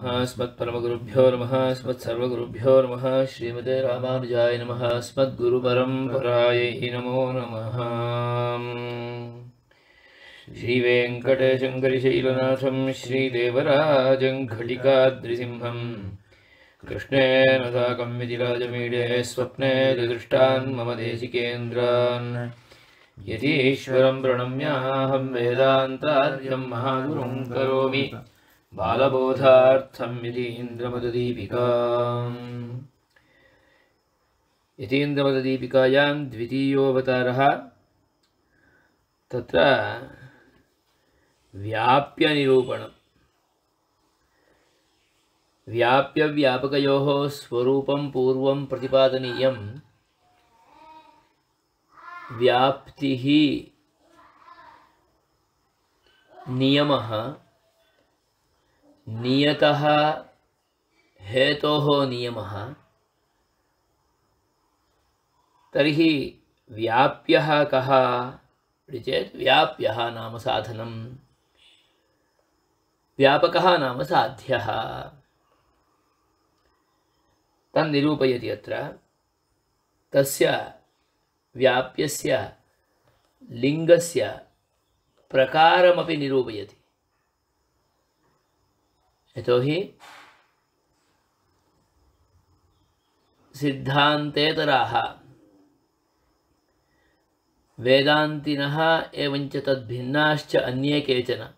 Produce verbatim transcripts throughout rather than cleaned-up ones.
नमः अस्मत्परमगुरुभ्यो नमः अस्मत्सर्वगुरुभ्यो नमः श्रीमते रामानुजाय नमः अस्मद्गुरुपरम्परायै नमो नमः। श्रीवेङ्कटेशङ्करिशैलनाथं श्रीदेवराजं घटिकाद्रिसिंहं कृष्णेन साकं विजिराजमीडे स्वप्ने दृष्टान् मम देशिकेन्द्रान् यतीश्वरं प्रणम्याहं वेदान्तार्यं महागुरुं करोमि बालबोधार्थं यतीन्द्रमददीपिकाम्। यतीन्द्रमददीपिकायां द्वितीयोऽवतारः तत्र व्याप्यनिरूपणम्। व्याप्यव्यापकयोः स्वरूपं पूर्वं प्रतिपादनीयं। व्याप्तिः नियमः, नियतः हेतोः नियमः। तर्हि व्याप्यः कः इति चेत् व्याप्यः नाम साधनं, व्यापकः नाम साध्यः। तन्निरूपयति अत्र। तस्य व्याप्यस्य लिङ्गस्य प्रकारमपि निरूपयति। यतोहि सिद्धान्तेतराः वेदान्तिनः एवञ्च तद्भिन्नाश्च अन्ये केचन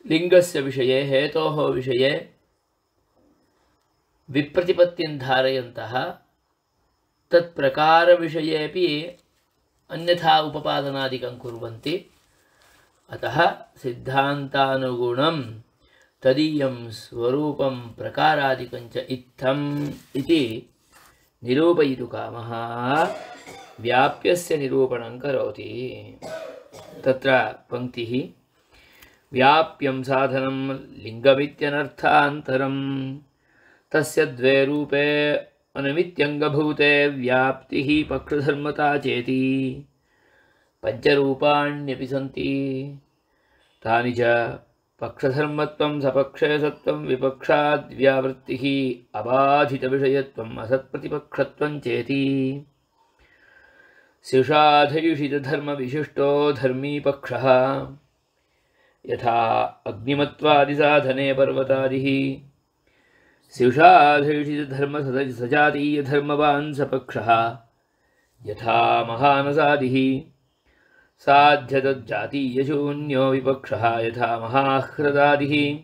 लिङ्गस्य विषये हेतोः विषये विप्रतिपत्तिं धारयन्तः तत्प्रकारविषयेपि अन्यथा उपपादनादिकं कुर्वन्ति। अतः सिद्धान्तानुगुणं तदीयं स्वरूपं प्रकारादिकं च इत्थम् इति निरूपयितुकामः व्याप्यस्य निरूपणं करोति। तत्र पङ्क्तिः व्याप्यं साधनं लिङ्गमित्यनर्थान्तरं तस्य द्वे रूपे अनमित्यङ्गभूते व्याप्तिः पक्षधर्मता चेति पञ्चरूपाण्यपि सन्ति। तानि च पक्षधर्मत्वं सपक्षे सत्वं विपक्षाद्व्यावृत्तिः अबाधितविषयत्वम् असत्प्रतिपक्षत्वं चेति। स्युषाधयुषितधर्मविशिष्टो धर्मी पक्षः यथा अग्निमत्वादिसाधने पर्वतादिः स्युषाधयुषितधर्मसजातीयधर्मवान् सपक्षः यथा महानसादिः साध्यतज्जातीयशून्यो विपक्षः यथा महाह्रदादिः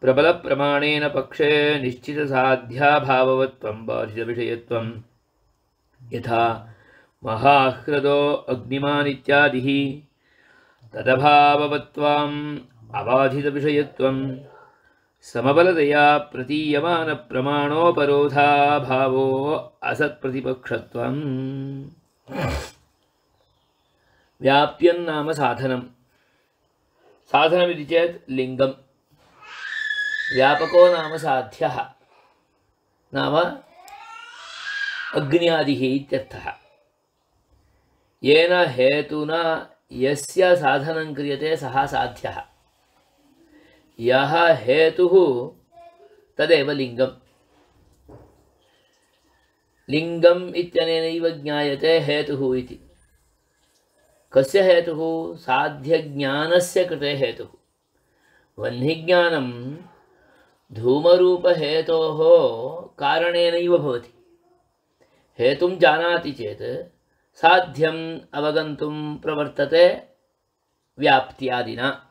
प्रबलप्रमाणेन पक्षे निश्चितसाध्याभाववत्वं बाधितविषयत्वं यथा महाह्रदो अग्निमान् इत्यादिः तदभाववत्वाम् अबाधितविषयत्वं समबलतया प्रतीयमानप्रमाणोपरोधाभावो असत्प्रतिपक्षत्वम्। व्याप्यन्नाम साधनं। साधनमिति चेत् लिङ्गं। व्यापको नाम साध्यः, नाम अग्न्यादिः इत्यर्थः। येन हेतुना यस्य साधनं क्रियते सः साध्यः। यः हेतुः तदेव लिङ्गम्। लिङ्गम् इत्यनेनैव ज्ञायते हेतुः इति। कस्य हेतुः? साध्यज्ञानस्य कृते हेतुः। वह्निज्ञानं धूमरूपहेतोः कारणेनैव भवति। हेतुं जानाति चेत् साध्यम् अवगन्तुं प्रवर्तते व्याप्त्यादिना।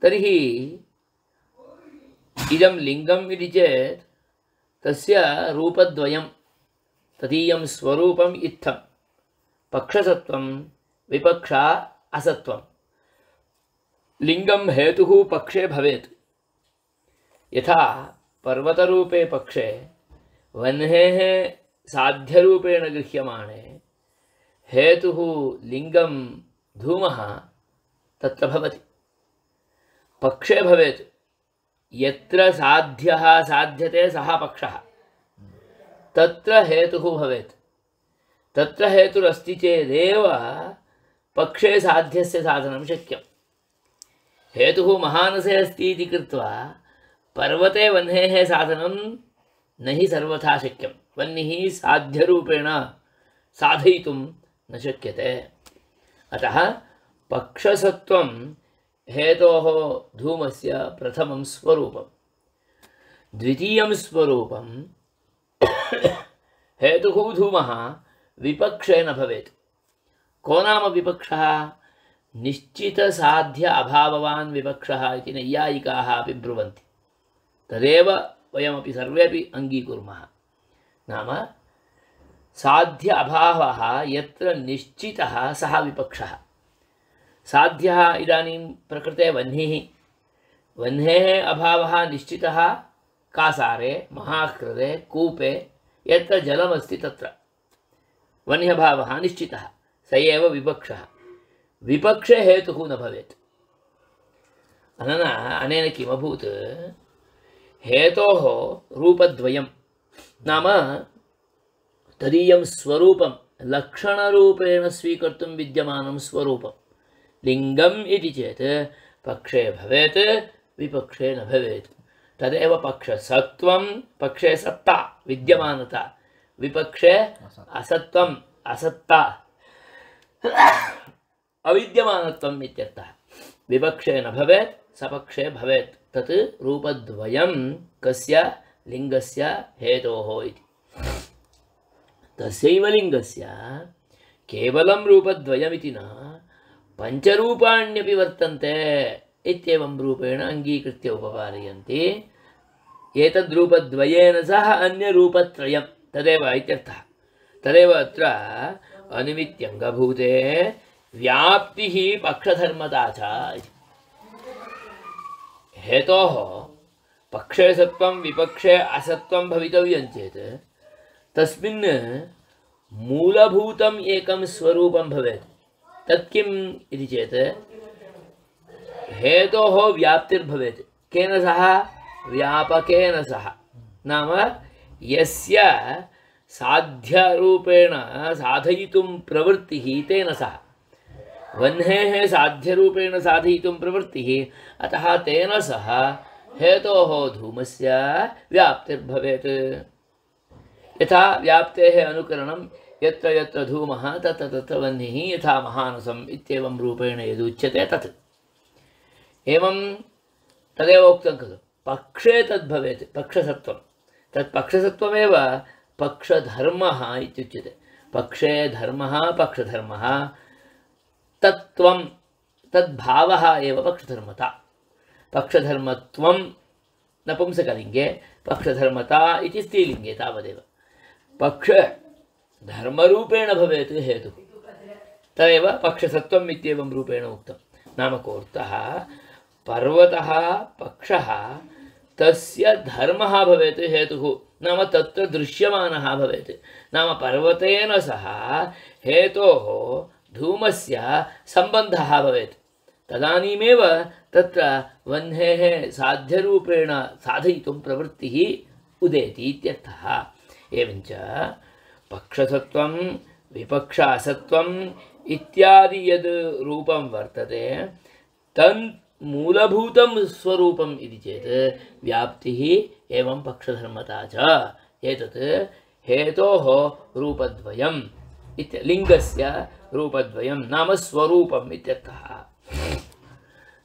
तर्हि इदं लिङ्गम् इति चेत् तस्य रूपद्वयं, तदीयं स्वरूपम् इत्थं पक्षसत्वं विपक्षा असत्वं। लिङ्गं हेतुः पक्षे भवेत्। यथा पर्वतरूपे पक्षे वह्नेः साध्यरूपेण गृह्यमाणे हेतुः लिङ्गं धूमः तत्र भवति। पक्षे भवेत्। यत्र साध्यः साध्यते सः पक्षः, तत्र हेतुः भवेत्। तत्र हेतुरस्ति चेदेव पक्षे साध्यस्य साधनं शक्यं। हेतुः महानसे अस्ति इति कृत्वा पर्वते वह्नेः साधनं न हि सर्वथा शक्यं। वह्निः साध्यरूपेण साधयितुं न शक्यते। अतः पक्षसत्त्वं हेतोः धूमस्य प्रथमं स्वरूपं। द्वितीयं स्वरूपं हेतुः धूमः विपक्षे न भवेत्। को नाम विपक्षः? निश्चितसाध्य अभाववान् विपक्षः इति नैयायिकाः अपि ब्रुवन्ति। तदेव वयमपि सर्वेपि अङ्गीकुर्मः। नाम साध्य अभावः यत्र निश्चितः सः विपक्षः। साध्यः इदानीं प्रकृते वह्निः, वह्नेः अभावः निश्चितः कासारे, महाह्रदे, कूपे यत्र जलमस्ति तत्र वह्न्यभावः निश्चितः, स एव विपक्षः। विपक्षे हेतुः न भवेत्। अनना अनेन किमभूत्? हेतोः रूपद्वयं, नाम तदीयं स्वरूपं लक्षणरूपेण स्वीकर्तुं विद्यमानं स्वरूपं। लिङ्गम् इति चेत् पक्षे भवेत्, विपक्षे न भवेत्। तदेव पक्षसत्त्वं, पक्षे सत्ता विद्यमानता, विपक्षे असत्त्वम् असत्ता अविद्यमानत्वम् इत्यर्थः। विपक्षे न भवेत्, सपक्षे भवेत्। तत् रूपद्वयं कस्य? लिङ्गस्य हेतोः इति। तस्यैव लिङ्गस्य केवलं रूपद्वयमिति न पञ्चरूपाण्यपि वर्तन्ते इत्येवं रूपेण अङ्गीकृत्य उपपादयन्ति। एतद्रूपद्वयेन सह अन्यरूपत्रयं तदेव इत्यर्थः। तदेव अत्र अनिमित्यङ्गभूते व्याप्तिः पक्षधर्मता च इति। हेतोः पक्षे सत्त्वं विपक्षे असत्त्वं भवितव्यं चेत् तस्मिन् मूलभूतम् एकं स्वरूपं भवेत्। तत् किम् इति चेत् हेतोः व्याप्तिर्भवेत्। केन सह? व्यापकेन सह। नाम यस्य साध्यरूपेण साधयितुं प्रवृत्तिः तेन सह। वह्नेः साध्यरूपेण साधयितुं प्रवृत्तिः, अतः तेन सह हेतोः धूमस्य व्याप्तिर्भवेत्। यथा व्याप्तेः अनुकरणं यत्र यत्र धूमः तत्र तत्र वह्निः यथा महानसम् इत्येवं रूपेण यदुच्यते तत्। एवं तदेव उक्तं खलु, पक्षे तद्भवेत् पक्षसत्त्वं। तत् पक्षसत्त्वमेव पक्षधर्मः इत्युच्यते। पक्षे धर्मः पक्षधर्मः, तत्त्वं तद्भावः एव पक्षधर्मता। पक्षधर्मत्वं नपुंसकलिङ्गे, पक्षधर्मता इति स्त्रीलिङ्गे तावदेव। पक्षधर्मरूपेण भवेत् हेतुः, तदेव पक्षसत्त्वम् इत्येवं रूपेण उक्तं। नाम कोऽर्थः? पर्वतः पक्षः, तस्य धर्मः भवेत् हेतुः, नाम तत्र दृश्यमानः भवेत्। नाम पर्वतेन सह हेतोः धूमस्य सम्बन्धः भवेत्। तदानीमेव तत्र वह्नेः साध्यरूपेण साधयितुं प्रवृत्तिः उदेति इत्यर्थः। एवञ्च पक्षसत्त्वं विपक्ष असत्त्वम् इत्यादि यद् रूपं वर्तते तन् मूलभूतं स्वरूपम् इति चेत् व्याप्तिः एवं पक्षधर्मता च। एतत् हेतोः रूपद्वयम् इति, लिङ्गस्य रूपद्वयं नाम स्वरूपम् इत्यर्थः।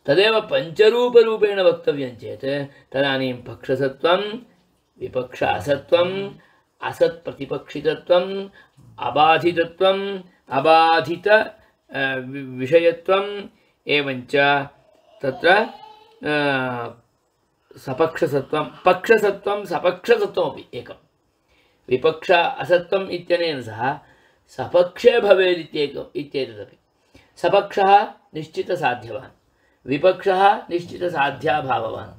तदेव पञ्चरूपरूपेण वक्तव्यं चेत् तदानीं पक्षसत्त्वं विपक्ष असत्त्वम् असत्प्रतिपक्षितत्वम् अबाधितत्वम् अबाधित विषयत्वम् एवञ्च तत्र सपक्षसत्त्वं पक्षसत्त्वं सपक्षसत्त्वमपि एकं। विपक्ष असत्त्वम् इत्यनेन सह सपक्षे भवेत् इत्येकम् इत्येतदपि। सपक्षः निश्चितसाध्यवान्, विपक्षः निश्चितसाध्याभाववान्।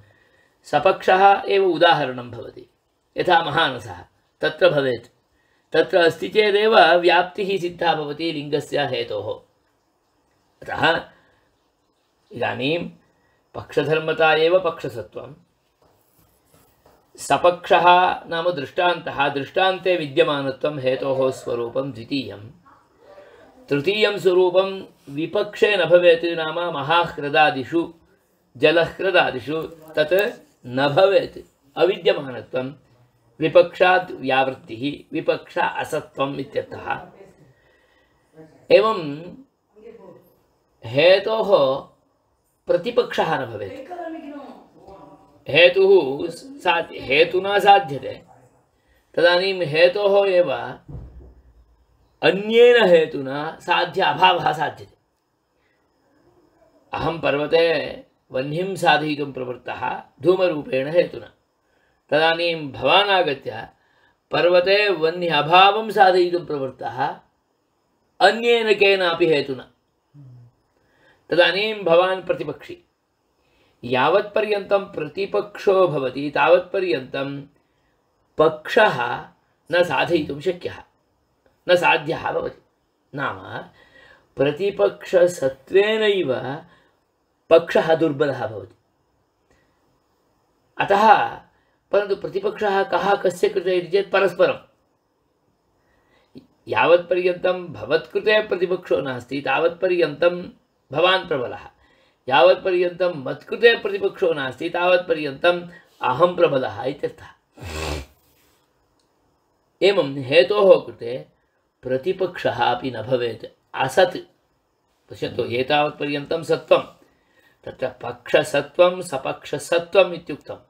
सपक्षः एव उदाहरणं भवति। यथा महानसः तत्र भवेत्, तत्र अस्ति चेदेव व्याप्तिः सिद्धा भवति लिङ्गस्य हेतोः। अतः इदानीं पक्षधर्मता एव पक्षसत्त्वं। सपक्षः नाम दृष्टान्तः, दृष्टान्ते विद्यमानत्वं हेतोः स्वरूपं द्वितीयं। तृतीयं स्वरूपं विपक्षे न भवेत्, नाम महाह्रदादिषु जलहृदादिषु तत् न भवेत् अविद्यमानत्वं विपक्षात् व्यावृत्तिः विपक्षा असत्वम् इत्यर्थः। एवं हेतोः प्रतिपक्षः न भवेत्। हेतुः साध्य हेतुना साध्यते, तदानीं हेतोः एव अन्येन हेतुना साध्य अभावः साध्यते। अहं पर्वते वह्निं साधयितुं प्रवृत्तः धूमरूपेण हेतुना, तदानीं भवान् आगत्य पर्वते वह्नि अभावं साधयितुं प्रवृत्तः अन्येन केनापि हेतुना, तदानीं भवान् प्रतिपक्षी। यावत्पर्यन्तं प्रतिपक्षो भवति तावत्पर्यन्तं पक्षः न साधयितुं शक्यः, न साध्यः भवति। नाम प्रतिपक्षसत्त्वेनैव पक्षः दुर्बलः भवति। अतः परन्तु प्रतिपक्षः कः कस्य कृते इति चेत् परस्परं। यावत्पर्यन्तं भवत्कृते प्रतिपक्षो नास्ति तावत्पर्यन्तं भवान् प्रबलः, यावत्पर्यन्तं मत्कृते प्रतिपक्षो नास्ति तावत्पर्यन्तम् अहं प्रबलः इत्यर्थः। एवं हेतोः कृते प्रतिपक्षः अपि न भवेत्, असत्। पश्यन्तु, एतावत्पर्यन्तं सत्त्वं, तत्र पक्षसत्त्वं सपक्षसत्त्वम् इत्युक्तम्।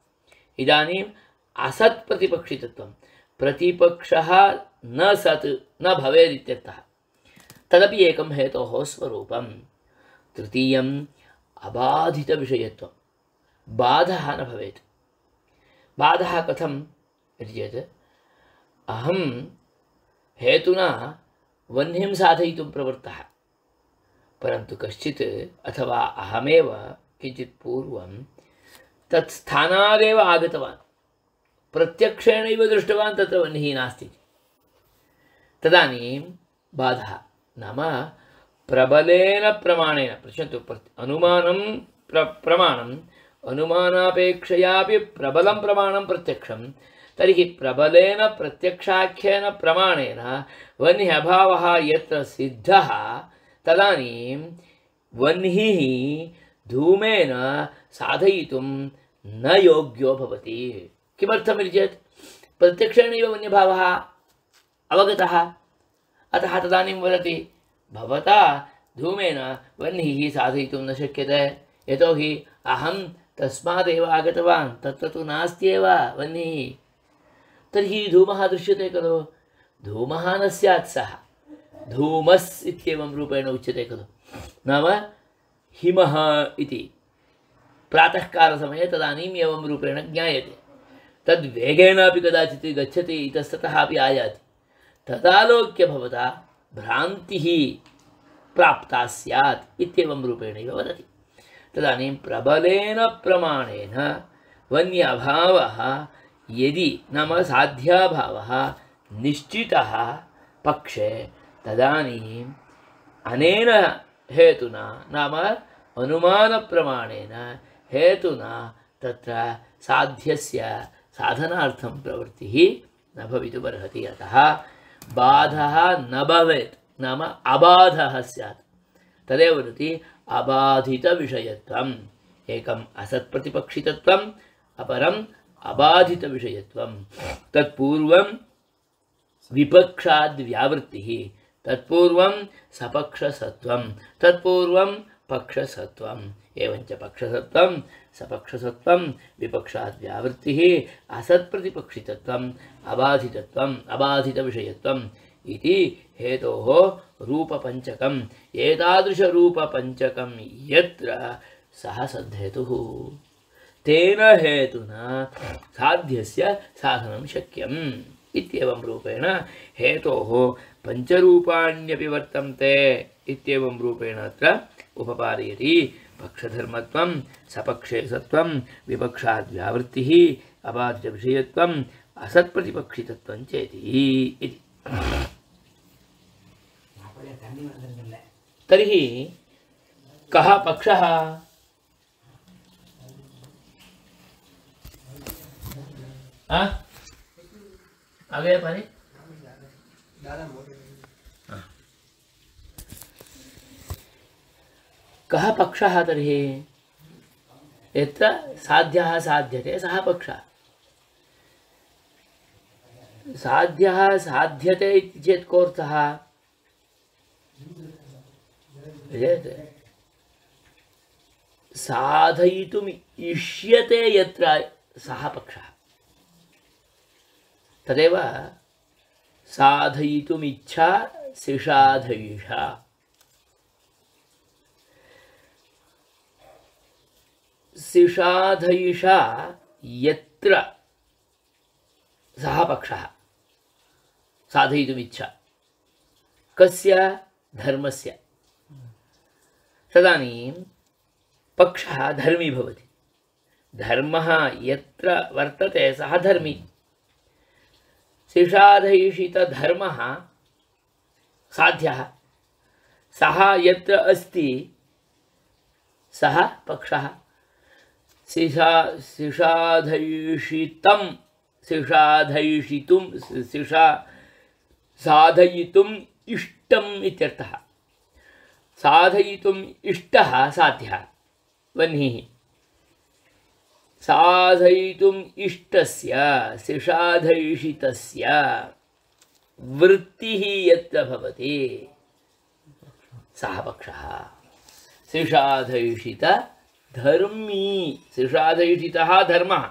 इदानीम् असत् प्रतिपक्षितत्वं, प्रतिपक्षः न सत् न भवेत् इत्यर्थः। तदपि एकं हेतोः स्वरूपं। तृतीयम् अबाधितविषयत्वं, बाधः न भवेत्। बाधः कथम् इति चेत्, अहं हेतुना वह्निं साधयितुं प्रवृत्तः, परन्तु कश्चित् अथवा अहमेव किञ्चित् पूर्वं तत् स्थानादेव आगतवान्, प्रत्यक्षेणैव दृष्टवान् तत्र वह्निः नास्ति। तदानीं बाधः, नाम प्रबलेन प्रमाणेन। पश्यन्तु, अनुमानं प्र प्रमाणम् अनुमानापेक्षयापि प्रबलं प्रमाणं प्रत्यक्षं, तर्हि प्रबलेन प्रत्यक्षाख्येन प्रमाणेन वह्निः अभावः यत्र सिद्धः, तदानीं वह्निः धूमेन साधयितुं न योग्यो भवति। किमर्थमिति चेत् प्रत्यक्षेणैव वह्न्यभावः अवगतः, अतः तदानीं वदति भवता धूमेन वह्निः साधयितुं न शक्यते, यतोहि अहं तस्मादेव आगतवान्, तत्र तु नास्त्येव वह्निः। तर्हि धूमः दृश्यते खलु, धूमः न स्यात्, सः धूमस् इत्येवं रूपेण उच्यते खलु। नाम हिमः इति प्रातःकालसमये तदानीम् एवं रूपेण ज्ञायते, तद्वेगेनापि कदाचित् गच्छति, इतस्ततः अपि आयाति, तदालोक्य भवता भ्रान्तिः प्राप्ता स्यात् इत्येवं रूपेणैव वदति। तदानीं प्रबलेन प्रमाणेन वह्न्यभावः यदि, नाम साध्याभावः निश्चितः पक्षे, तदानीम् अनेन हेतुना, नाम अनुमानप्रमाणेन हेतुना तत्र साध्यस्य साधनार्थं प्रवृत्तिः न भवितुमर्हति। अतः बाधः न भवेत्, नाम अबाधः स्यात्। तदेव वदति अबाधितविषयत्वम्। एकम् असत्प्रतिपक्षितत्वम्, अपरम् अबाधितविषयत्वं। तत्पूर्वं विपक्षाद्व्यावृत्तिः, तत्पूर्वं सपक्षसत्त्वं, तत्पूर्वं पक्षसत्त्वम्। एवञ्च पक्षसत्त्वं सपक्षसत्त्वं विपक्षाद्व्यावृत्तिः असत्प्रतिपक्षितत्वम् अबाधितत्वम् अबाधितविषयत्वम् इति हेतोः रूपपञ्चकम्। एतादृशरूपपञ्चकं यत्र सः सद्धेतुः, तेन हेतुना साध्यस्य साधनं शक्यम् इत्येवं रूपेण हेतोः पञ्चरूपाण्यपि वर्तन्ते इत्येवं रूपेण अत्र उपपादयति। पक्षधर्मत्वं, सपक्षे सत्त्वं, विपक्षाद्व्यावृत्तिः, अबाधितविषयत्वम्, असत्प्रतिपक्षितत्वं चेति इति। तर्हि कः पक्षः? आगे पानी कः पक्षः? तर्हि यत्र साध्यः साध्यते सः पक्षः। साध्यः साध्यते इति चेत् कोऽर्थः? साधयितुम् इष्यते यत्र सः पक्षः। तदेव साधयितुमिच्छा सिषाधयिषा। सिषाधयिषा यत्र सः पक्षः साधयितुमिच्छा कस्य? धर्मस्य। तदानीं पक्षः धर्मी भवति। धर्मः यत्र वर्तते सः धर्मी। सिषाधयिषितधर्मः साध्यः, सः यत्र अस्ति सः पक्षः। सिषा सिषाधयिषितं सिषाधयिषितुं सिषा साधयितुम् इष्टम् इत्यर्थः। साधयितुम् इष्टः साध्यः वह्निः। साधयितुम् इष्टस्य सिषाधयिषितस्य वृत्तिः यत्र भवति सः पक्षः। सिषाधयिषितधर्मी, सिषाधयिषितः धर्मः,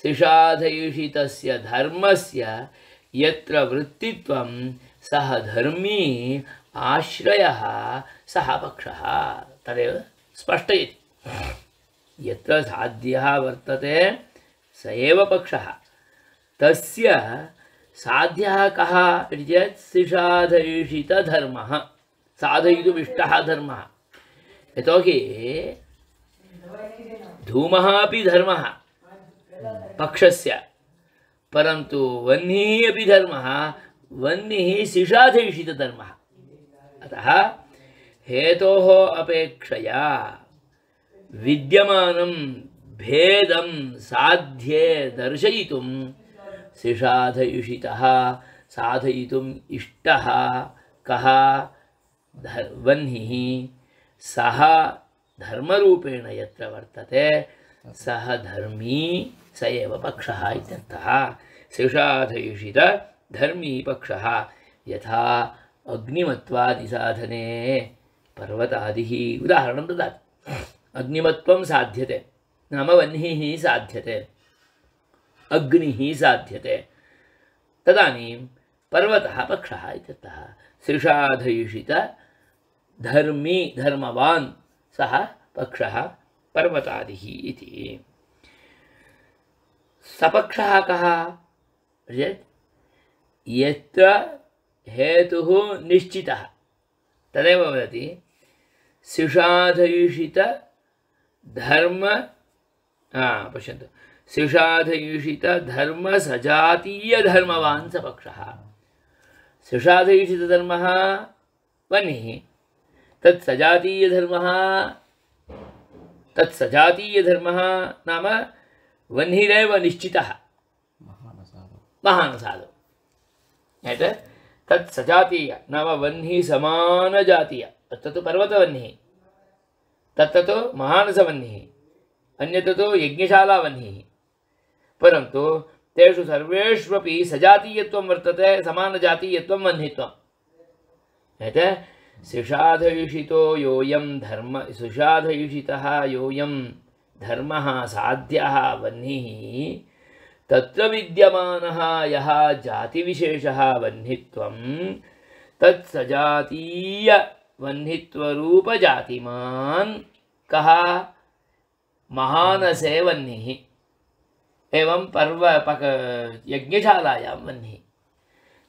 सिषाधयिषितस्य धर्मस्य यत्र वृत्तित्वं सः धर्मी आश्रयः सः पक्षः। तदेव स्पष्टयति। यत्र साध्यः वर्तते स एव पक्षः। तस्य साध्यः कः इति चेत् सिषाधयिषितधर्मः, साधयितुमिष्टः धर्मः। यतोहि धूमः अपि धर्मः पक्षस्य, परन्तु वह्निः अपि धर्मः, वह्निः सिषाधयिषितधर्मः। अतः हेतोः अपेक्षया विद्यमानं भेदं साध्ये दर्शयितुं सिषाधयिषितः साधयितुम् इष्टः कः? वह्निः। सः धर्मरूपेण यत्र वर्तते सः धर्मी स एव पक्षः इत्यर्थः। सिषाधयिषितधर्मी पक्षः। यथा अग्निमत्वादिसाधने पर्वतादिः उदाहरणं ददाति। अग्निमत्वं साध्यते नाम वह्निः साध्यते, अग्निः साध्यते, तदानीं पर्वतः पक्षः इत्यर्थः। सिषाधयिषितधर्मी धर्मवान् सः पक्षः पर्वतादिः इति। सपक्षः कः? यत्र हेतुः निश्चितः तदेव वदति। सिषाधयिषितधर्म पश्यन्तु, सिषाधयिषितधर्मसजातीयधर्मवान् स पक्षः। सिषाधयिषितधर्मः वह्निः, तत्सजातीयधर्मः तत्सजातीयधर्मः नाम वह्निरेव निश्चितः महानसादौ। तत्सजातीय नाम वह्निः समानजातीय, तत्र तु पर्वतवह्निः, तत्र तु महानसवह्निः, अन्यत्र तु यज्ञशालावह्निः। परन्तु तेषु सर्वेष्वपि सजातीयत्वं वर्तते, समानजातीयत्वं वह्नित्वं। सिषाधयिषितो योऽयं धर्म सिषाधयिषितः योऽयं धर्मः साध्यः वह्निः, तत्र विद्यमानः यः जातिविशेषः वह्नित्वं तत्सजातीय वह्नित्वरूपजातिमान् कः? महानसे वह्निः। एवं पर्व पक यज्ञशालायां वह्निः।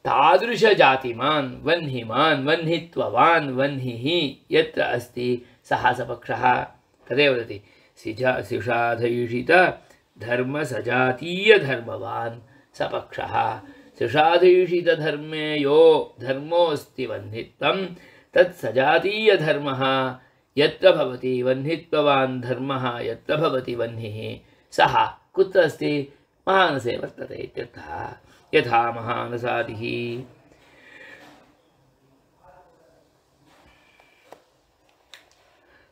तादृशजातिमान् वह्निमान् वह्नित्ववान् वह्निः यत्र अस्ति सः स पक्षः। तदेव वदति सिषाधयिषितधर्मसजातीयधर्मवान् स पक्षः। सिषाधयिषितधर्मे यो धर्मोऽस्ति वह्नित्वं तत्सजातीयधर्मः यत्र भवति, वह्नित्ववान् धर्मः यत्र भवति वह्निः, सः कुत्र अस्ति? महानसे वर्तते इत्यर्थः। यथा महानसादिः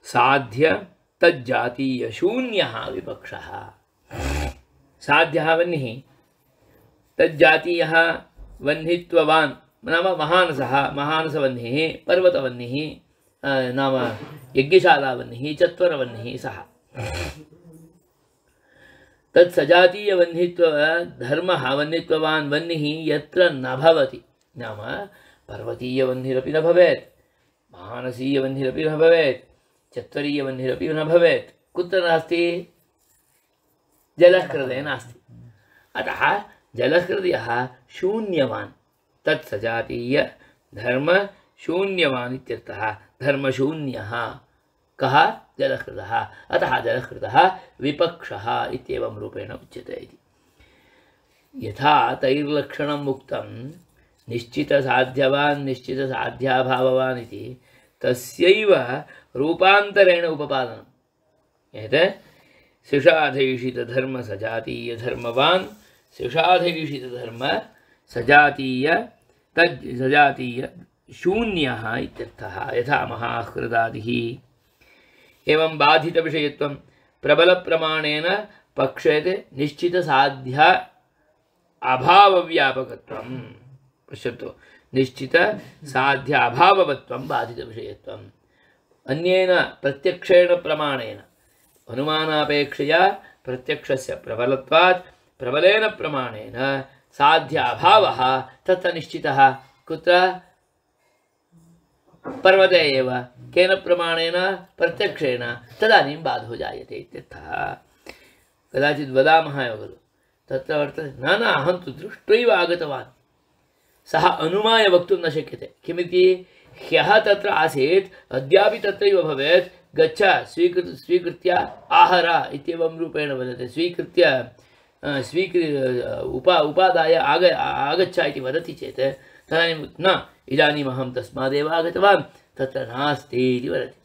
साध्य तज्जातीयशून्यः विपक्षः। साध्यः वह्निः, तज्जातीयः वह्नित्ववान् नाम महानसः, महानसवह्निः, पर्वतवह्निः नाम यज्ञशालावह्निः, चत्वरवह्निः सः। तत्सजातीयवह्नित्व धर्मः वह्नित्ववान् वह्निः यत्र न भवति, नाम पर्वतीयवह्निरपि न भवेत्, महानसीयवह्निरपि न भवेत्, चत्वरीयवह्निरपि न भवेत्, कुत्र नास्ति? जलहृदये नास्ति। अतः जलहृदयः शून्यवान्, तत्सजातीय धर्म शून्यवान् इत्यर्थः। धर्मशून्यः कः? जलहृदः। अतः जलहृदः विपक्षः इत्येवं रूपेण उच्यते इति। यथा तैर्लक्षणम् उक्तं निश्चितसाध्यवान् निश्चितसाध्याभाववान् इति, तस्यैव रूपान्तरेण उपपादनम्। एतत् शिषाधैषितधर्मसजातीयधर्मवान् शिषाधैषितधर्म सजातीय तज् सजातीय शून्यः इत्यर्थः। यथा महाहृदादिः। एवं बाधितविषयत्वं प्रबलप्रमाणेन पक्षेते निश्चितसाध्य अभावव्यापकत्वं। पश्यतु, निश्चितसाध्य अभाववत्वं बाधितविषयत्वम्। अन्येन प्रत्यक्षेण प्रमाणेन अनुमानापेक्षया प्रत्यक्षस्य प्रबलत्वात् प्रबलेन प्रमाणेन साध्य अभावः तत्र निश्चितः। कुत्र? पर्वते एव। केन प्रमाणेन? प्रत्यक्षेण। तदानीं बाधो जायते इत्यर्थः। कदाचित् वदामः एव खलु, तत्र वर्तते न न अहं तु दृष्ट्वैव आगतवान्, सः अनुमाय वक्तुं न शक्यते। किमिति? ह्यः तत्र आसीत्, अद्यापि तत्रैव भवेत्, गच्छ स्वीकृत स्वीकृत्य आहर इत्येवं रूपेण वदति। स्वीकृत्य स्वीकृ उपा उपादाय आग आगच्छ इति वदति चेत् तदानीं न, इदानीम् अहं तस्मादेव आगतवान्, तत्र नास्ति इति वदति।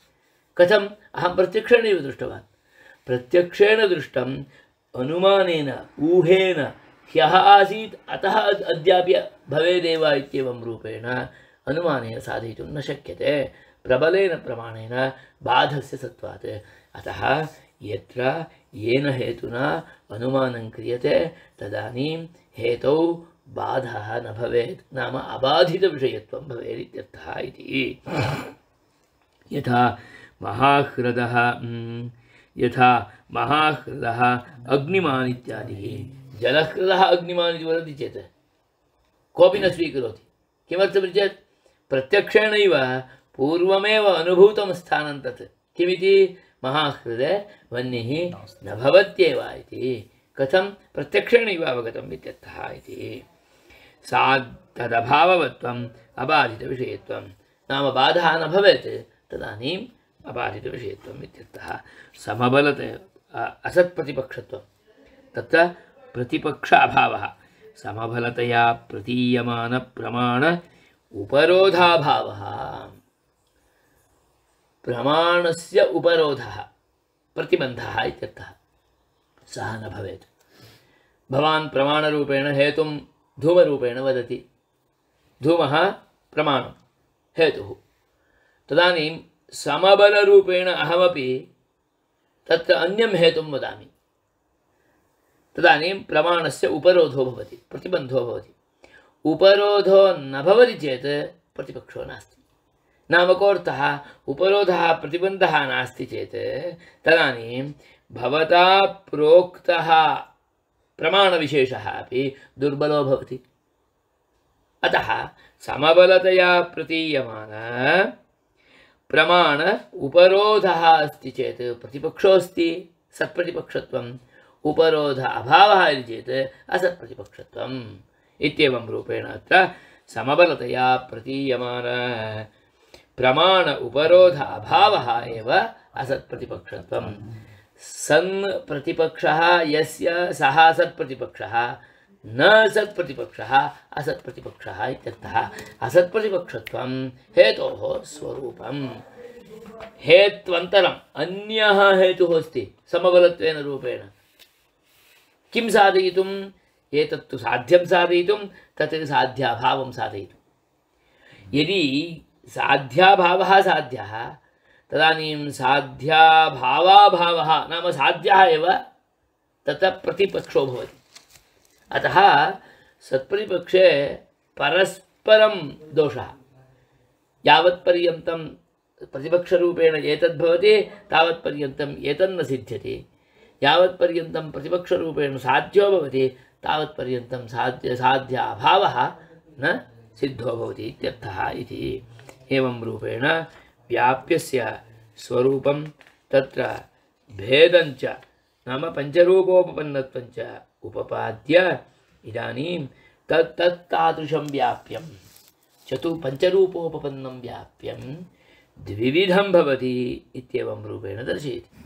कथम्? अहं प्रत्यक्षेणैव दृष्टवान्। प्रत्यक्षेण दृष्टम् अनुमानेन ऊहेन ह्यः आसीत् अतः अद्यापि भवेदेव इत्येवं रूपेण अनुमानेन साधयितुं न शक्यते, प्रबलेन प्रमाणेन बाधस्य सत्त्वात्। अतः यत्र येन हेतुना अनुमानं क्रियते तदानीं हेतौ बाधः न भवेत्, नाम अबाधितविषयत्वं भवेत् इत्यर्थः इति। यथा महाह्रदः यथा महाह्रदः अग्निमान् इत्यादिः। जलह्रदः अग्निमान् इति वदति चेत् कोऽपि न स्वीकरोति। किमर्थमिति चेत् प्रत्यक्षेणैव पूर्वमेव अनुभूतं स्थानं तत्। किमिति? महाह्रदे वह्निः न भवत्येव इति। कथं? प्रत्यक्षेणैव अवगतम् इत्यर्थः इति। सा तदभाववत्वम् अबाधितविषयत्वं, नाम बाधः न भवेत्, तदानीम् अबाधितविषयत्वम् इत्यर्थः। समबलतया असत्प्रतिपक्षत्वं, तत्र प्रतिपक्ष अभावः। समबलतया प्रतीयमानप्रमाण उपरोधाभावः। प्रमाणस्य उपरोधः प्रतिबन्धः इत्यर्थः, सः न भवेत्। भवान् प्रमाणरूपेण हेतुं धूमरूपेण वदति। धूमः प्रमाणं, हेतुः। तदानीं समबलरूपेण अहमपि तत्र अन्यं हेतुं वदामि, तदानीं प्रमाणस्य उपरोधो भवति, प्रतिबन्धो भवति। उपरोधो न भवति चेत् प्रतिपक्षो नास्ति। नाम कोऽर्थः? उपरोधः प्रतिबन्धः नास्ति चेत् तदानीं भवता प्रोक्तः प्रमाणविशेषः अपि दुर्बलो भवति। अतः समबलतया प्रतीयमान प्रमाण उपरोधः अस्ति चेत् प्रतिपक्षो अस्ति, सत्प्रतिपक्षत्वम्। उपरोध अभावः इति चेत् असत्प्रतिपक्षत्वम् इत्येवं रूपेण अत्र समबलतया प्रतीयमान प्रमाण उपरोध अभावः एव असत्प्रतिपक्षत्वम्। सन् प्रतिपक्षः यस्य सः सत्प्रतिपक्षः, न सत्प्रतिपक्षः असत्प्रतिपक्षः इत्यर्थः। असत्प्रतिपक्षत्वं हेतोः स्वरूपम्। हेत्वन्तरम् अन्यः हेतुः अस्ति समबलत्वेन रूपेण। किं साधयितुम्? एतत्तु साध्यं साधयितुं, तत् साध्याभावं साधयितुं। यदि साध्याभावः साध्यः, तदानीं साध्याभावाभावः नाम साध्यः एव ततः प्रतिपक्षो भवति। अतः सत्प्रतिपक्षे परस्परं दोषः। यावत्पर्यन्तं प्रतिपक्षरूपेण एतद्भवति तावत्पर्यन्तम् एतन्न सिद्ध्यति, यावत्पर्यन्तं प्रतिपक्षरूपेण साध्यो भवति तावत्पर्यन्तं साध्य साध्याभावः न सिद्धो भवति इत्यर्थः इति। एवं रूपेण व्याप्यस्य स्वरूपं तत्र भेदञ्च नाम पञ्चरूपोपपन्नत्वञ्च उपपाद्य इदानीं तत् तत्तादृशं व्याप्यं चतु पञ्चरूपोपपन्नं व्याप्यं द्विविधं भवति इत्येवं रूपेण दर्शयति।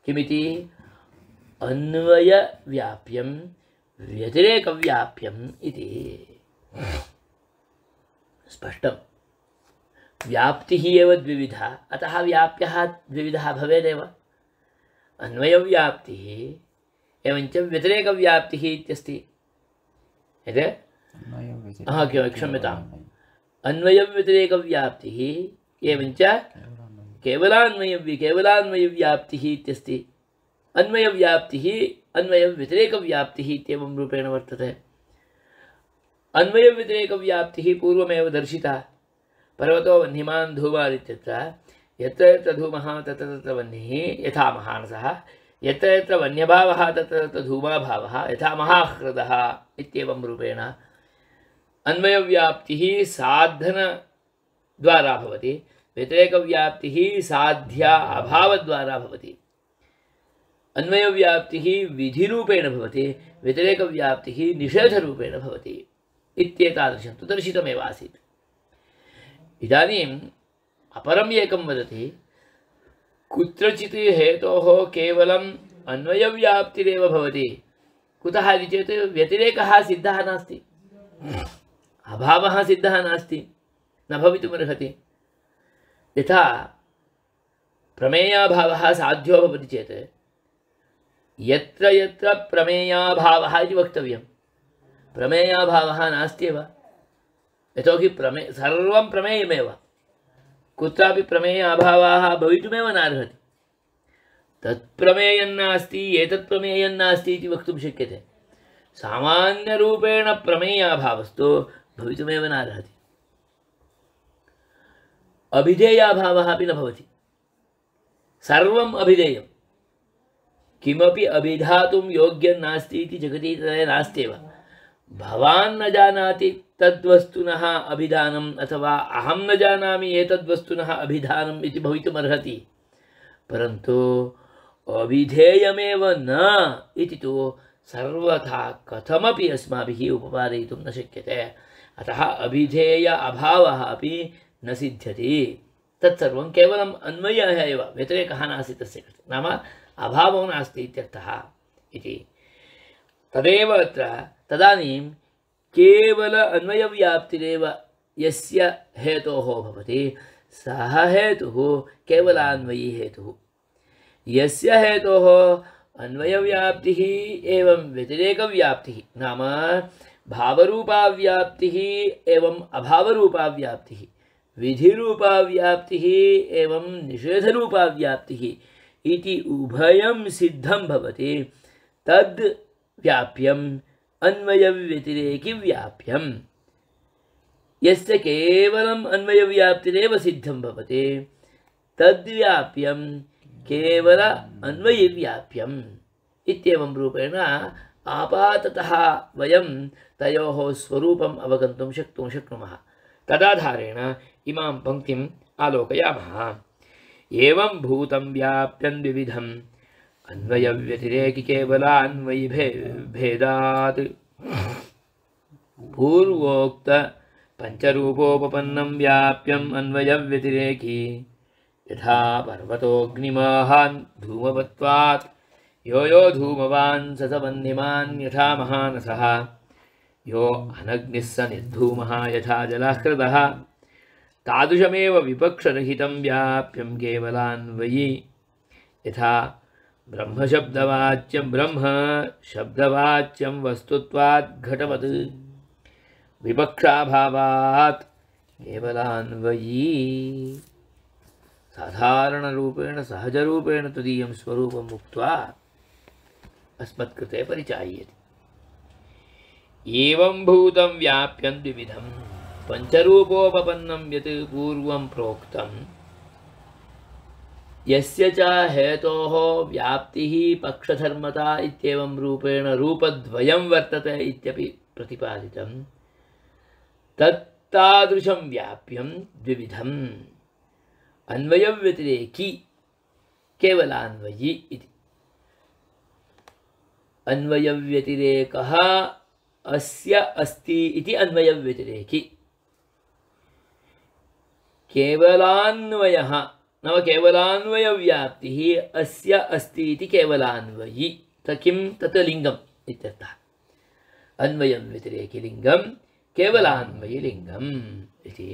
किमिति? अन्वयव्याप्यं व्यतिरेकव्याप्यम् इति। स्पष्टं। व्याप्तिः एव द्विविधा, अतः व्याप्यः द्विविधः भवेदेव। अन्वयव्याप्तिः एवञ्च व्यतिरेकव्याप्तिः इत्यस्ति। यत् हा क्षम्यताम्, अन्वयव्यतिरेकव्याप्तिः एवञ्च केवलान्वयव्य केवलान्वयव्याप्तिः इत्यस्ति। अन्वयव्याप्तिः अन्वयव्यतिरेकव्याप्तिः इत्येवं रूपेण वर्तते। अन्वयव्यतिरेकव्याप्तिः पूर्वमेव दर्शिता। पर्वतो वह्निमान् धूमात् इत्यत्र यत्र यत्र धूमः तत्र तत्र वह्निः यथा महानसः, यत्र यत्र वन्यभावः तत्र तत्र धूमाभावः यथा महाह्रदः इत्येवं रूपेण अन्वयव्याप्तिः साधनद्वारा भवति, व्यतिरेकव्याप्तिः साध्या अभावद्वारा भवति। अन्वयव्याप्तिः विधिरूपेण भवति, व्यतिरेकव्याप्तिः निषेधरूपेण भवति इत्येतादृशं तु दर्शितमेव आसीत्। इदानीम् अपरम् एकं वदति, कुत्रचित् हेतोः केवलम् अन्वयव्याप्तिरेव भवति। कुतः इति चेत् व्यतिरेकः सिद्धः नास्ति, अभावः सिद्धः नास्ति, न भवितुमर्हति। यथा प्रमेयाभावः साध्यो भवति चेत् यत्र यत्र प्रमेयाभावः इति वक्तव्यं, प्रमेयाभावः नास्त्येव। यतोहि प्रमे सर्वं प्रमेयमेव, कुत्रापि प्रमेयाभावाः भवितुमेव नार्हति। तत्प्रमेयन्नास्ति एतत्प्रमेयन्नास्ति इति वक्तुं शक्यते। सामान्यरूपेण प्रमेयाभावस्तु भवितुमेव नार्हति। अभिधेयाभावः अपि न भवति। सर्वम् अभिधेयं, किमपि अभिधातुं योग्यं नास्ति इति जगति नास्त्येव। भवान् न जानाति तद्वस्तुनः अभिधानम् अथवा अहं न जानामि एतद्वस्तुनः अभिधानम् इति भवितुमर्हति, परन्तु अभिधेयमेव न इति तु सर्वथा कथमपि अस्माभिः उपपादयितुं न शक्यते। अतः अभिधेय अभावः अपि न सिद्ध्यति। तत्सर्वं केवलम् अन्वयः एव, व्यतिरेकः नास्ति तस्य कृते, नाम अभावो नास्ति इत्यर्थः इति। तदेव अत्र तदानीं केवल अन्वयव्याप्तिरेव यस्य हेतोः भवति सः हेतुः केवलान्वयी हेतुः। यस्य हेतोः अन्वयव्याप्तिः एवं व्यतिरेकव्याप्तिः नाम भावरूपाव्याप्तिः एवं अभावरूपाव्याप्तिः, विधिरूपाव्याप्तिः एवं निषेधरूपाव्याप्तिः इति उभयं सिद्धं भवति। तद् व्याप्यम् अन्वयव्यतिरेकिव्याप्यम्। यस्य केवलम् अन्वयव्याप्तिरेव सिद्धं भवति तद्व्याप्यं केवल अन्वयव्याप्यम् इत्येवं रूपेण आपाततः वयं तयोः स्वरूपम् अवगन्तुं शक्तुं शक्नुमः। तदाधारेण इमां पङ्क्तिम् आलोकयामः। एवं भूतं व्याप्यं द्विविधम् अन्वयव्यतिरेकि केवलान्वयि भेदात् पूर्वोक्त पंचरूपोपपन्नं व्याप्यम् अन्वयव्यतिरेकि यथा पर्वतोऽग्निमाहान् धूमवत्वात् यो यो धूमवान् स स वह्निमान् यथा महानसः यो अनग्निः स निर्धूमः यथा जलाह्रदः तादृशमेव विपक्षरहितं व्याप्यं केवलान्वयि यथा ब्रह्मशब्दवाच्यं ब्रह्म शब्दवाच्यं वस्तुत्वात् घटवत् विपक्षाभावात् केवलान्वयी। साधारणरूपेण सहजरूपेण तदीयं स्वरूपम् उक्त्वा अस्मत्कृते परिचाय्यते। एवं भूतं व्याप्यं द्विविधं पञ्चरूपोपपन्नं यत् पूर्वं प्रोक्तं यस्य च हेतोः व्याप्तिः पक्षधर्मता इत्येवं रूपेण रूपद्वयं वर्तते इत्यपि प्रतिपादितं तत्तादृशं व्याप्यं द्विविधम् अन्वयव्यतिरेकी केवलान्वयी इति। अन्वयव्यतिरेकः अस्य अस्ति इति अन्वयव्यतिरेकी, केवलान्वयः नाम केवलान्वयव्याप्तिः अस्य अस्ति इति केवलान्वयी। किं तत् लिङ्गम् इत्यर्थः। अन्वयव्यतिरेकी लिङ्गं केवलान्वयी लिङ्गम् इति।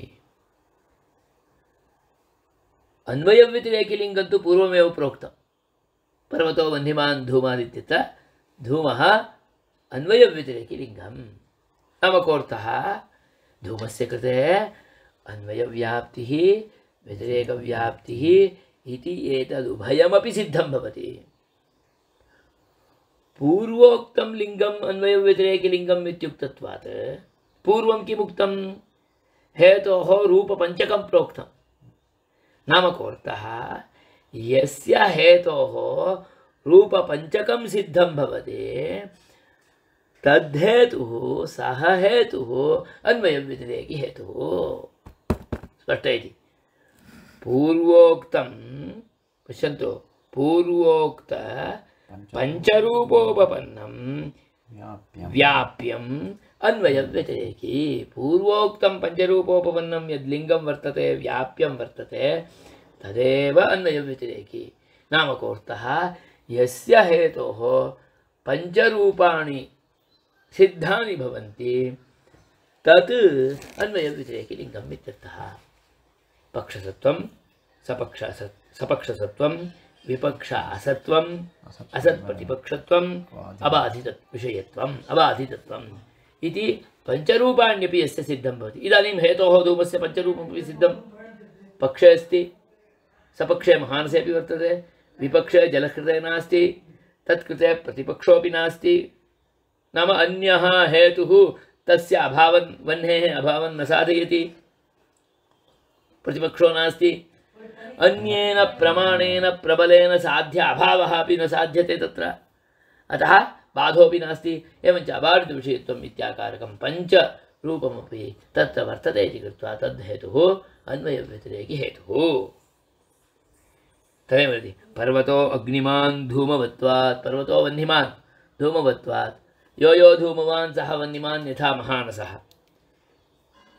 अन्वयव्यतिरेकी लिङ्गं तु पूर्वमेव प्रोक्तं। पर्वतो वह्निमान् धूमादित्यत्र धूमः अन्वयव्यतिरेकी लिङ्गं नाम कोऽर्थः? धूमस्य कृते अन्वयव्याप्तिः व्यतिरेकव्याप्तिः इति एतदुभयमपि सिद्धं भवति। पूर्वोक्तं लिङ्गम् अन्वयव्यतिरेकलिङ्गम् इत्युक्तत्वात् पूर्वं किमुक्तं? हेतोः रूपपञ्चकं प्रोक्तं। नाम कोऽर्थः? यस्य हेतोः रूपपञ्चकं सिद्धं भवति तद्धेतुः सः हेतुः अन्वयव्यतिरेकी हेतुः। स्पष्ट इति। पूर्वोक्तं पश्यन्तु, पूर्वोक्त पञ्चरूपोपपन्नं व्याप्यम् अन्वयव्यतिरेकी। पूर्वोक्तं पञ्चरूपोपपन्नं यद्लिङ्गं वर्तते व्याप्यं वर्तते तदेव अन्वयव्यतिरेकी। नाम कोऽर्थः? यस्य हेतोः पञ्चरूपाणि सिद्धानि भवन्ति तत् अन्वयव्यतिरेकी लिङ्गम् इत्यर्थः। पक्षसत्वं सपक्ष सपक्षसत्वं विपक्ष असत्वम् असत्प्रतिपक्षत्वम् अबाधित विषयत्वम् अबाधितत्वम् इति पञ्चरूपाण्यपि यस्य सिद्धं भवति। इदानीं हेतोः धूमस्य पञ्चरूपमपि सिद्धं। पक्षे अस्ति, सपक्षे महानसे अपि वर्तते, विपक्षे जलकृते नास्ति, तत्कृते प्रतिपक्षोऽपि नास्ति। नाम अन्यः हेतुः तस्य अभावन् वह्नेः अभावं न साधयति, प्रतिपक्षो नास्ति। अन्येन प्रमाणेन प्रबलेन साध्य अभावः अपि न साध्यते तत्र, अतः बाधोऽपि नास्ति। एवञ्च अबाधितविषयत्वम् इत्याकारकं पञ्चरूपमपि तत्र वर्तते इति कृत्वा तद्धेतुः अन्वयव्यतिरेकी हेतुः। तदेव वदति पर्वतो अग्निमान् धूमवत्वात्, पर्वतो वह्निमान् धूमवत्वात्, यो यो धूमवान् सः वह्निमान् यथा महानसः।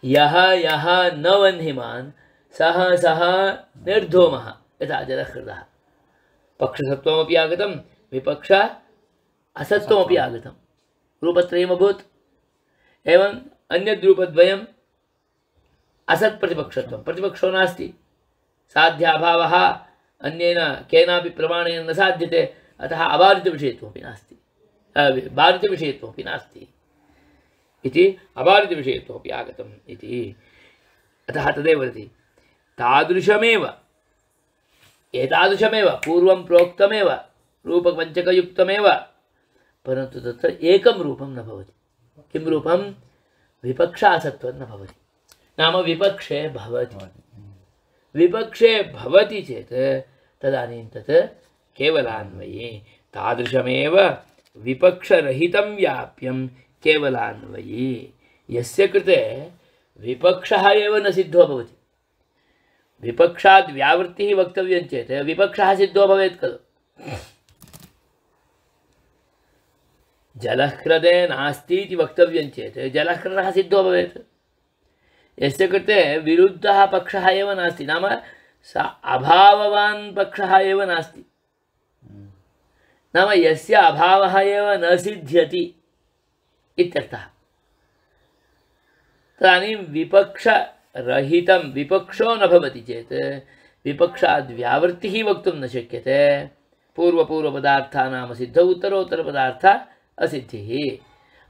यः यः न वह्निमान् सः सः निर्धूमः यथा जलहृदः। पक्षसत्वमपि आगतं, विपक्ष असत्वमपि आगतं, रूपत्रयमभूत्। एवम् अन्यद्रूपद्वयम् असत्प्रतिपक्षत्वं, प्रतिपक्षो नास्ति, साध्याभावः अन्येन केनापि प्रमाणेन न साध्यते, अतः अबाधितविषयत्वमपि नास्ति, बाधितविषयत्वमपि नास्ति इति अबाधितविषयत्वमपि आगतम् इति। अतः तदेव वदति तादृशमेव एतादृशमेव पूर्वं प्रोक्तमेव रूपपञ्चकयुक्तमेव, परन्तु तत्र एकं रूपं न भवति। किं रूपं? विपक्षासत्वं न भवति। नाम विपक्षे भवति, विपक्षे भवति चेत् तदानीं तत् केवलान्वयी। तादृशमेव विपक्षरहितं व्याप्यं केवलान्वयी, यस्य कृते विपक्षः एव न सिद्धो भवति। विपक्षाद् व्यावृत्तिः वक्तव्यं चेत् विपक्षः सिद्धो भवेत् खलु। जलह्रदे नास्ति इति वक्तव्यं चेत् जलह्रदः सिद्धो भवेत्। यस्य कृते विरुद्धः पक्षः एव नास्ति, नाम स अभाववान् पक्षः एव नास्ति, नाम यस्य अभावः एव न सिद्ध्यति इत्यर्थः। तदानीं विपक्षरहितं विपक्षो न भवति चेत् विपक्षाद् व्यावृत्तिः वक्तुं न शक्यते। पूर्वपूर्वपदार्थानां सिद्धौ उत्तरोत्तरपदार्थ असिद्धिः,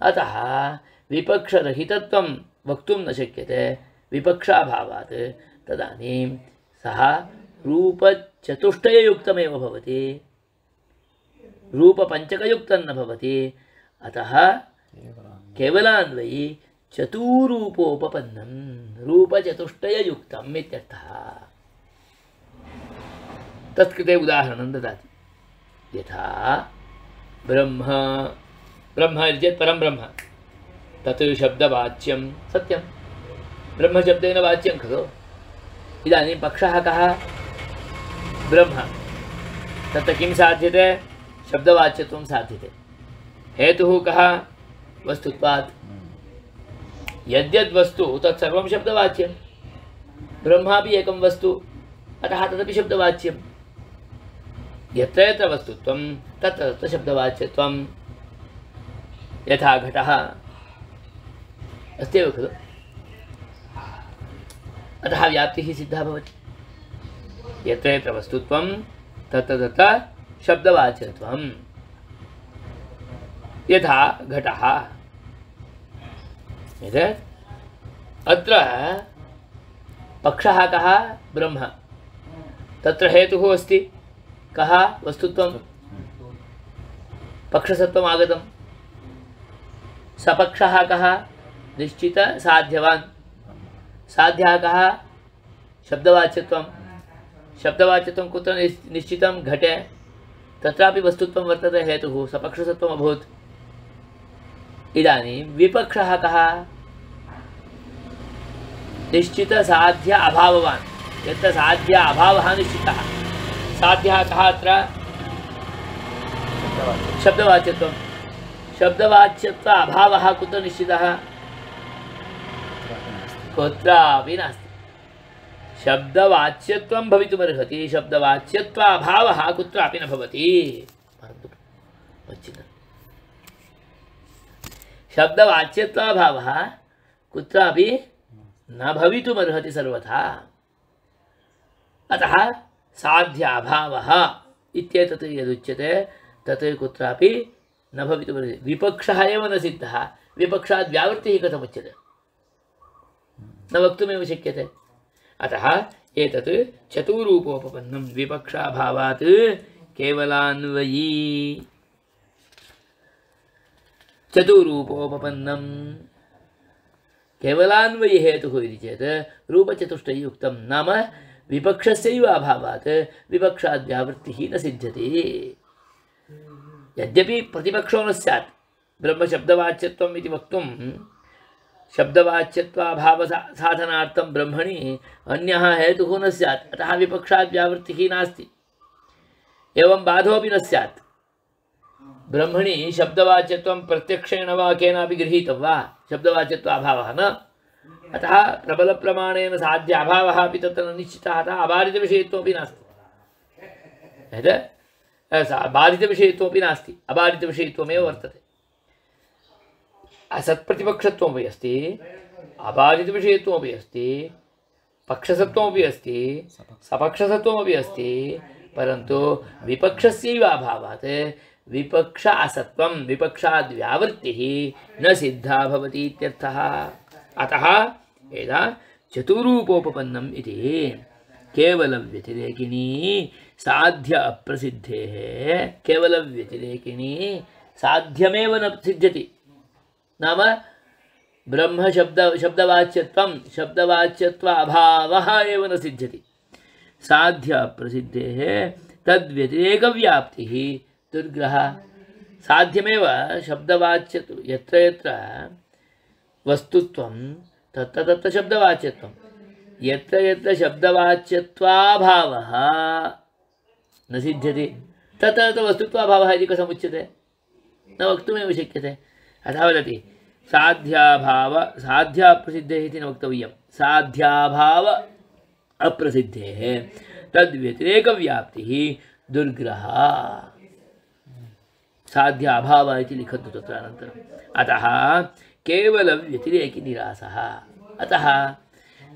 अतः विपक्षरहितत्वं वक्तुं न शक्यते विपक्षाभावात्। तदानीं सः रूपचतुष्टययुक्तमेव भवति, रूपपञ्चकयुक्तं न भवति। अतः केवलान्वयी चतुरूपोपपन्नं रूपचतुष्टययुक्तम् इत्यर्थः। तत्कृते उदाहरणं ददाति। यथा ब्रह्म ब्रह्म इति चेत् परं ब्रह्म, तत् शब्दवाच्यं सत्यं, ब्रह्मशब्देन वाच्यं खलु। इदानीं पक्षः कः? ब्रह्म। तत्र किं साध्यते? शब्दवाच्यत्वं साध्यते। हेतुः कः? वस्तुत्वात्। यद्यद्वस्तु तत्सर्वं शब्दवाच्यं, ब्रह्मापि एकं वस्तु, अतः तदपि शब्दवाच्यं। यत्र यत्र वस्तुत्वं तत्र तत्र शब्दवाच्यत्वं। यथा घटः अस्त्येव खलु, अतः व्याप्तिः सिद्धा भवति। यत्र यत्र वस्तुत्वं तत्र तत्र शब्दवाच्यत्वं। यथा घटः। अत्र पक्षः कः? ब्रह्म। तत्र हेतुः अस्ति कः? वस्तुत्वं, पक्षसत्वम् आगतं। सपक्षः कः? निश्चित साध्यवान्। साध्यः कः? शब्दवाच्यत्वं। शब्दवाच्यत्वं कुत्र निश्चितं? घटे। तत्रापि वस्तुत्वं वर्तते, हेतुः सपक्षसत्वम् अभूत्। इदानीं विपक्षः कः? निश्चित साध्य अभाववान्। यत्र साध्य अभावः निश्चितः, साध्यः कः? अत्र शब्दवाच्यत्वं। शब्दवाच्यत्व अभावः कुत्र निश्चितः? कुत्रापि नास्ति। शब्दवाच्यत्वं भवितुमर्हति, शब्दवाच्यत्व अभावः कुत्रापि न भवति। शब्दवाच्यत्वाभावः कुत्रापि न भवितुमर्हति सर्वथा। अतः साध्याभावः इत्येतत् यदुच्यते तत् कुत्रापि न भवितुमर्हति। विपक्षः एव न सिद्धः, विपक्षात् व्यावृत्तिः कथमुच्यते? न वक्तुमेव शक्यते। अतः एतत् चतुरूपोपपन्नं विपक्षाभावात् केवलान्वयी। चतुरूपोपपन्नं केवलान्वयी हेतुः इति चेत् रूपचतुष्टययुक्तं, नाम विपक्षस्यैव अभावात् विपक्षाद् व्यावृत्तिः न सिद्ध्यति। यद्यपि प्रतिपक्षो न स्यात्, ब्रह्मशब्दवाच्यत्वम् इति वक्तुं शब्दवाच्यत्वाभाव साधनार्थं ब्रह्मणि अन्यः हेतुः न स्यात्, अतः विपक्षाद् व्यावृत्तिः नास्ति। एवं बाधोऽपि न स्यात्। ब्रह्मणि शब्दवाच्यत्वं प्रत्यक्षेण वा केनापि गृहीतं वा, शब्दवाच्यत्वाभावः न, अतः प्रबलप्रमाणेन साध्य अभावः अपि तत्र न निश्चितः, अतः अबाधितविषयत्वमपि नास्ति। यत् बाधितविषयत्वमपि नास्ति, अबाधितविषयत्वमेव वर्तते। असत्प्रतिपक्षत्वमपि अस्ति, अबाधितविषयत्वमपि अस्ति, पक्षसत्वमपि अस्ति, सपक्षसत्वमपि अस्ति, परन्तु विपक्षस्यैव अभावात् विपक्ष असत्वं, विपक्षाद् व्यावृत्तिः न सिद्धा भवति इत्यर्थः। अतः एदा चतुरूपोपपन्नम् इति केवलव्यतिरेकिणी साध्य अप्रसिद्धेः, केवलव्यतिरेकिणी साध्यमेव न सिद्ध्यति। नाम ब्रह्म शब्द शब्दवाच्यत्वं शब्दवाच्यत्व अभावः एव न सिद्ध्यति। साध्य अप्रसिद्धेः तद्व्यतिरेकव्याप्तिः दुर्ग्रह। साध्यमेव शब्दवाच्यत्व, यत्र यत्र वस्तुत्वं तत्र तत्र शब्दवाच्यत्वं, यत्र यत्र शब्दवाच्यत्वाभावः न सिद्ध्यति तत्र तत्र वस्तुत्वाभावः इति कथमुच्यते? न वक्तुमेव शक्यते। अतः वदति साध्याभाव साध्याप्रसिद्धेः इति न वक्तव्यं, साध्याभाव अप्रसिद्धेः तद्व्यतिरेकव्याप्तिः दुर्ग्रह। साध्य अभाव इति लिखन्तु तत्र अनन्तरम्। अतः केवलव्यतिरेकी निरासः। अतः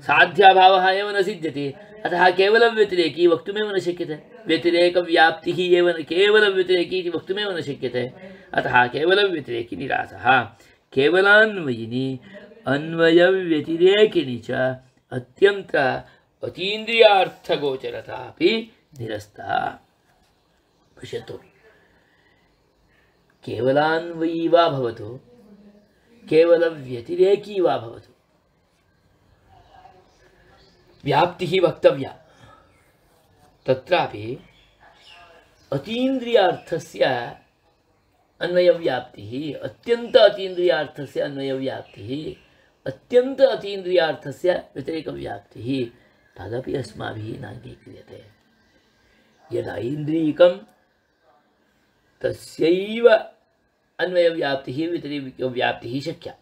साध्याभावः एव न सिद्ध्यति, अतः केवलव्यतिरेकी वक्तुमेव न शक्यते। व्यतिरेकव्याप्तिः एव न, केवलव्यतिरेकी इति वक्तुमेव न शक्यते। अतः केवलव्यतिरेकी निरासः। केवलान्वयिनी अन्वयव्यतिरेकिनी च अत्यन्त अतीन्द्रियार्थगोचरता अपि निरस्ता। पश्यतु, केवलान्वयी वा भवतु, केवलव्यतिरेकी वा भवतु, व्याप्तिः वक्तव्या। तत्रापि अतीन्द्रियार्थस्य अन्वयव्याप्तिः, अत्यन्त अतीन्द्रियार्थस्य अन्वयव्याप्तिः, अत्यन्त अतीन्द्रियार्थस्य व्यतिरेकव्याप्तिः तदपि अस्माभिः नाङ्गीक्रियते। यदैन्द्रियकं तस्यैव अन्वयव्याप्तिः व्यतिरेकव्याप्तिः शक्या।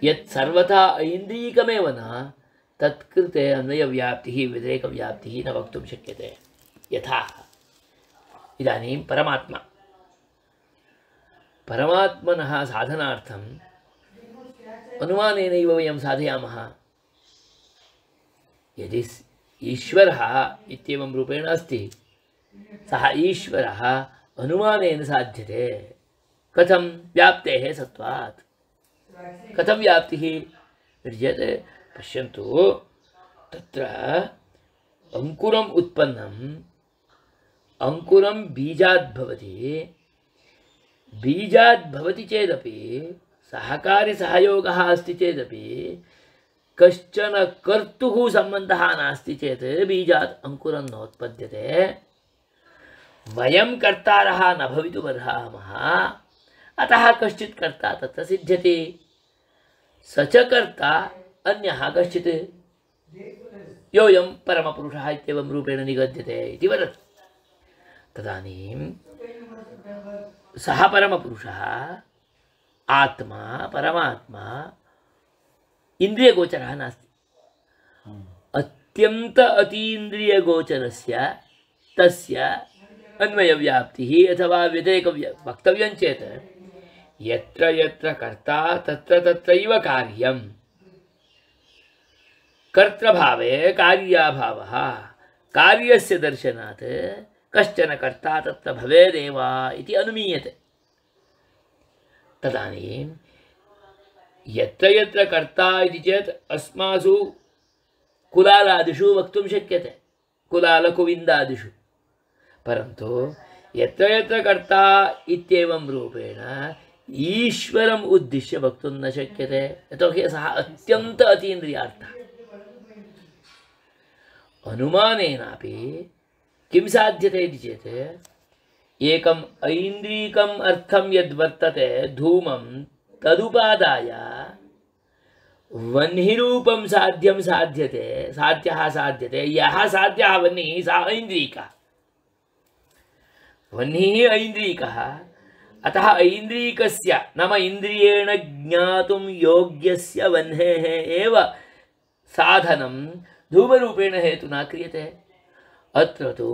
यत् सर्वथा ऐन्द्रियकमेव न, तत्कृते अन्वयव्याप्तिः व्यतिरेकव्याप्तिः न वक्तुं शक्यते। यथा इदानीं परमात्मा, परमात्मनः साधनार्थम् अनुमानेनैव वयं साधयामः। यदि ईश्वरः इत्येवं रूपेण अस्ति, सः ईश्वरः अनुमानेन साध्यते। कथं? व्याप्तेः सत्त्वात्। कथं व्याप्तिः चेत् पश्यन्तु, तत्र अंकुरम् उत्पन्नम्, अंकुरं बीजात् भवति। बीजात् भवति चेदपि सहकारी सहयोगः अस्ति चेदपि कश्चन कर्तुः सम्बन्धः नास्ति चेत् बीजात् अंकुरं नोत्पद्यते। वयं कर्तारः न भवितुमर्हामः, अतः कश्चित् कर्ता तत्र सिद्ध्यति। स च कर्ता अन्यः कश्चित्, योऽयं परमपुरुषः इत्येवं रूपेण निगद्यते इति वदति। तदानीं सः परमपुरुषः आत्मा परमात्मा इन्द्रियगोचरः नास्ति। अत्यन्त अतीन्द्रियगोचरस्य तस्य अन्वयव्याप्तिः अथवा व्यतिरेक वक्तव्यं चेत् यत्र यत्र कर्ता तत्र तत्रैव कार्यं। कर्तृभावे कार्याभावः, कार्यस्य दर्शनात् कश्चन कर्ता तत्र भवेदेव इति अनुमीयते। तदानीं यत्र यत्र कर्ता इति चेत् अस्मासु कुलालादिषु वक्तुं शक्यते, कुलालकुविन्दादिषु। परन्तु यत्र यत्र कर्ता इत्येवं रूपेण ईश्वरम् उद्दिश्य वक्तुं न शक्यते, यतोहि सः अत्यन्त अतीन्द्रियार्थः। अनुमानेनापि किं साध्यते इति चेत् एकम् ऐन्द्रियकम् अर्थं यद्वर्तते धूमं तदुपादाय वह्निरूपं साध्यं साध्यते, साध्यः साध्यते। यः साध्यः वह्निः सा ऐन्द्रियकः। वह्निः ऐन्द्रियकः, अतः ऐन्द्रियकस्य नाम इन्द्रियेण ज्ञातुं योग्यस्य वह्नेः एव साधनं धूमरूपेण हेतुना क्रियते। अत्र तु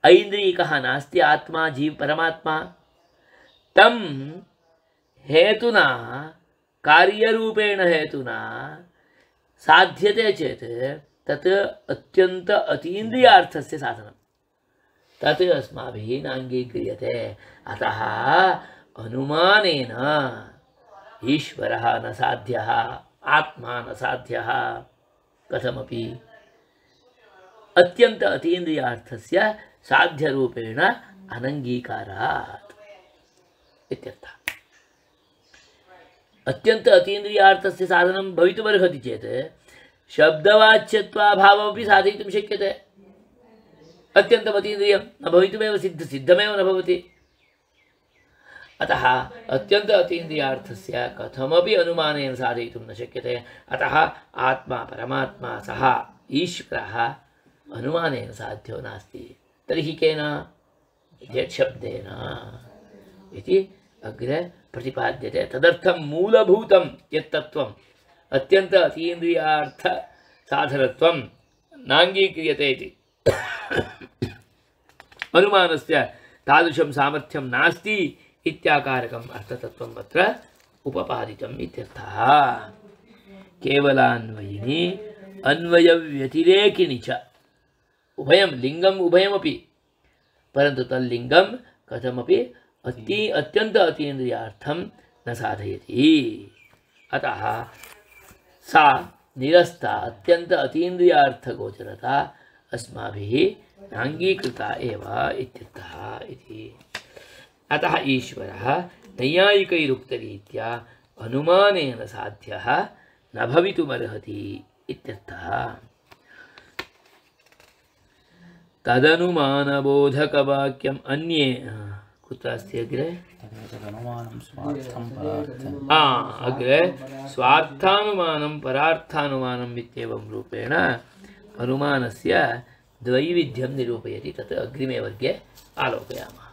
ऐन्द्रियकः नास्ति आत्मा जीव परमात्मा। तं हेतुना कार्यरूपेण हेतुना साध्यते चेत् तत् अत्यन्त अतीन्द्रियार्थस्य साधनं, तत् अस्माभिः नाङ्गीक्रियते। अतः अनुमानेन ईश्वरः न साध्यः, आत्मा न साध्यः। कथमपि अत्यंत अतीन्द्रियार्थस्य साध्यरूपेण अनङ्गीकारात् इत्यर्थः। अत्यंत अतीन्द्रियार्थस्य साधनं भवितुमर्हति चेत् शब्दवाच्यत्वाभावमपि साधयितुं शक्यते। अत्यन्तम् अतीन्द्रियं न भवितुमेव सिद्ध सिद्धमेव न भवति। अतः अत्यंत अतीन्द्रियार्थस्य कथमपि अनुमानेन साधयितुं न शक्यते। अतः आत्मा परमात्मा सः ईश्वरः अनुमानेन साध्यो नास्ति। तर्हि केन? यत् शब्देन इति अग्रे प्रतिपाद्यते। तदर्थं मूलभूतं यत् तत्त्वम् अत्यन्त अतीन्द्रियार्थ साधनत्वं नाङ्गीक्रियते इति अनुमानस्य तादृशं सामर्थ्यं नास्ति इत्याकारकम् अर्थतत्त्वम् अत्र उपपादितम् इत्यर्थः। केवलान्वयिनी अन्वयव्यतिरेकिनी च उभयं लिंगम् उभयमपि, परन्तु तल्लिंगं कथमपि अति अत्यन्त अतीन्द्रियार्थं न साधयति। अतः सा निरस्ता अत्यंत अतीन्द्रियार्थगोचरता अस्माभिः नाङ्गीकृता एव इत्यर्थः इति। अतः ईश्वरः नैयायिकैरुक्तरीत्या अनुमानेन साध्यः न भवितुमर्हति इत्यर्थः। तदनुमानबोधकवाक्यम् अन्ये कुत्र अस्ति अग्रे? अग्रे स्वार्थानुमानं परार्थानुमानम् इत्येवं रूपेण अनुमानस्य द्वैविध्यं निरूपयति। तत् अग्रिमे वर्गे आलोकयामः।